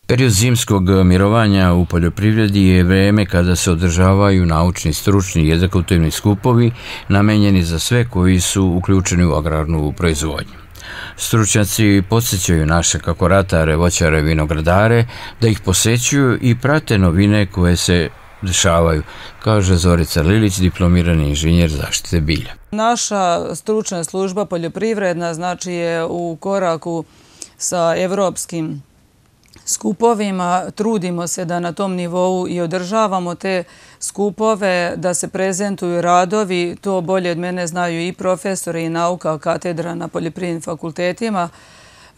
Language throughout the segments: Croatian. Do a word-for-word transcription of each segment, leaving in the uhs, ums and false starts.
Period zimskog mirovanja u poljoprivredi je vrijeme kada se održavaju naučni, stručni i edukativni skupovi namenjeni za sve koji su uključeni u agrarnu proizvodnju. Stručnjaci podsjećaju naše kako ratare, voćare, vinogradare da ih posećuju i prate novine koje se dešavaju, kaže Zorica Lilić, diplomirani inženjer zaštite bilja. Naša stručna služba poljoprivredna znači je u koraku sa evropskim skupovima. Trudimo se da na tom nivou i održavamo te skupove, da se prezentuju radovi. To bolje od mene znaju i profesori i nauka katedra na poljoprivrednim fakultetima.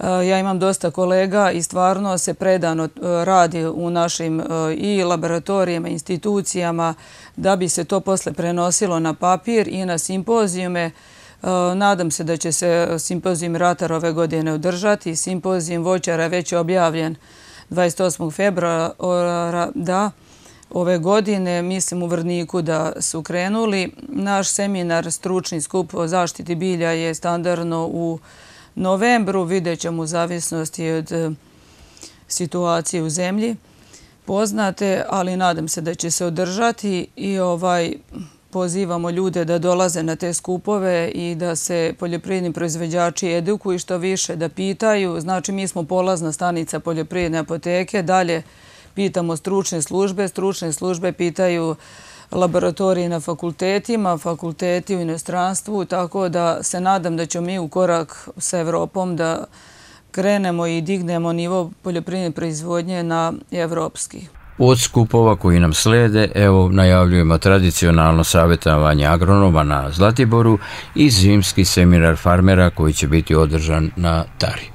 Ja imam dosta kolega i stvarno se predano radi u našim i laboratorijama, institucijama da bi se to posle prenosilo na papir i na simpozijume. Nadam se da će se simpozijum ratara ove godine održati. Simpozijum voćara je već objavljen dvadeset osmog februara da ove godine, mislim u Vrniku da su krenuli. Naš seminar stručni skup o zaštiti bilja je standardno u novembru, vidjet ćemo u zavisnosti od situacije u zemlji poznate, ali nadam se da će se održati i ovaj pozivamo ljude da dolaze na te skupove i da se poljoprivredni proizvođači edukuju što više, da pitaju. Znači, mi smo polazna stanica poljoprivredne apoteke, dalje pitamo stručne službe, stručne službe pitaju laboratorije na fakultetima, fakulteti u inostranstvu, tako da se nadam da ćemo mi u korak sa Evropom da krenemo i dignemo nivo poljoprivredne proizvodnje na evropski. Od skupova koji nam slede, evo najavljujemo tradicionalno savjetovanje agronoma na Zlatiboru i zimski seminar farmera koji će biti održan na Tari.